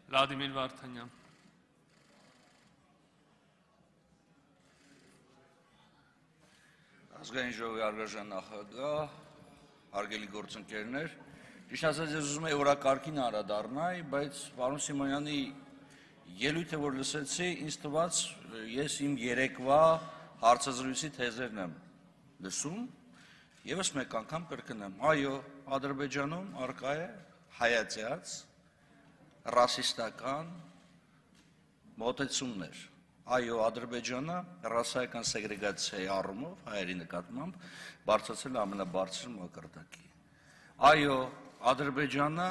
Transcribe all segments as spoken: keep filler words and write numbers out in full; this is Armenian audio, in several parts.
Վլադիմիր Վարդանյան։ Ազգային ժողովի առգաժան նախագահ, հարգելի գործընկերներ, ճիշտ ասած ես ուզում եի օրակարգին անդրադառնալ, բայց պարոն Սիմոնյանի ելույթը որ լսեցի, ինձ թվաց ես իմ երեկվա հարցազրույցի թեզերն եմ լսում, եւս մեկ անգամ կրկնեմ, այո, Ադրբեջանում առկա է հայացած ռասիստական մոտեցումներ։ Այո, Ադրբեջանը ռասայական սեգրեգացիայի առումով հայերի նկատմամբ բարձրացել է ամենաբարձր մակարդակի։ Այո, Ադրբեջանը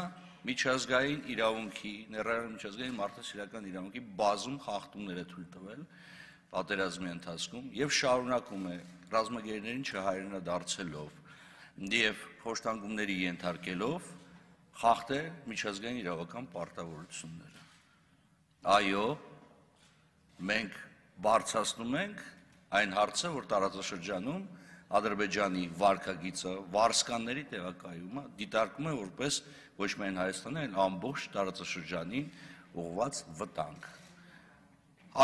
միջազգային իրավունքի, ներառյալ միջազգային մարդասիրական իրավունքի բազում խախտումներ է թույլ տվել պատերազմի ընթացքում եւ շարունակում է ռազմագերիներին չհայրենադարձելով եւ փոշտանգումների ենթարկելով խախտել միջազգային իրավական պարտավորությունները։ Այո, մենք բարձրացնում ենք այն հարցը, որ տարածաշրջանում Ադրբեջանի վարքագիծը, վարսկանների տեղակայումը դիտարկում է որպես ոչ միայն Հայաստանի, այլ ամբողջ տարածաշրջանին ուղղված վտանգ։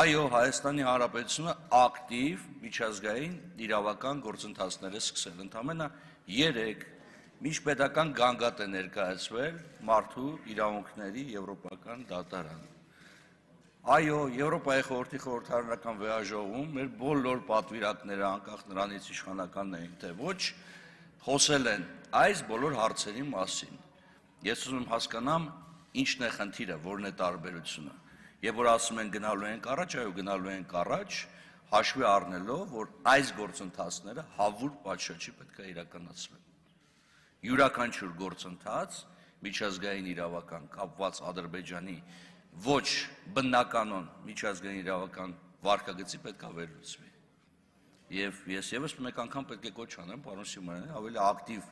Այո, Հայաստանի Հանրապետությունը ակտիվ միջազգային իրավական գործընթացներ է սկսել, ընդամենը երեք միջպետական գանգատ է ներկայացվել մարդու իրավունքների եվրոպական դատարան։ Այո, Եվրոպայի խորհրդի խորհրդարանական վեհաժողովում մեր բոլոր պատվիրակները, անկախ նրանից իշխանականն էին, թե ոչ, խոսել են այս բոլոր հարցերի մասին։ Ես ուզում եմ հասկանամ, ինչն է խնդիրը, որն է տարբերությունը։ Եվ որ ասում են գնալու ենք առաջ, այո, գնալու ենք առաջ, հաշվի առնելով, որ այս գործընթացները հավուր պատշաճի պետք է իրականացվեն։ Յուրաքանչյուր գործընթաց միջազգային իրավական կապված Ադրբեջանի ոչ բնականon միջազգային իրավական վարքագծի պետք է վերլուծվի։ Եվ ես եւս մեկ անգամ պետք է կոչ անեմ պարոն Սիմոնյանին ավելի ակտիվ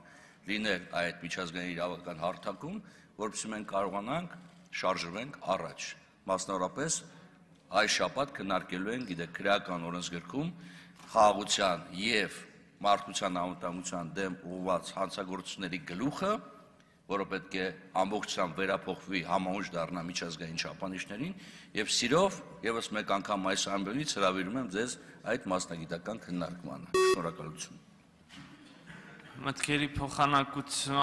լինել այդ միջազգային իրավական հարթակում, որովհետեւ մենք կարողանանք շարժվենք առաջ։ Մասնավորապես այս շաբաթ քննարկելու ենք, գիտեք, քրեական օրենսգրքում խաղաղության եւ մարդկության անվտանգության դեմ ուղղված հանցագործությունների գլուխը, որը պետք է ամբողջությամբ վերափոխվի համահունչ դառնա միջազգային չափանիշներին, եւ սիրով եւս մեկ անգամ այս ամբողջից հրավիրում եմ ձեզ այդ մասնագիտական քննարկմանը։ Շնորհակալություն։ Մտքերի փոխանակություն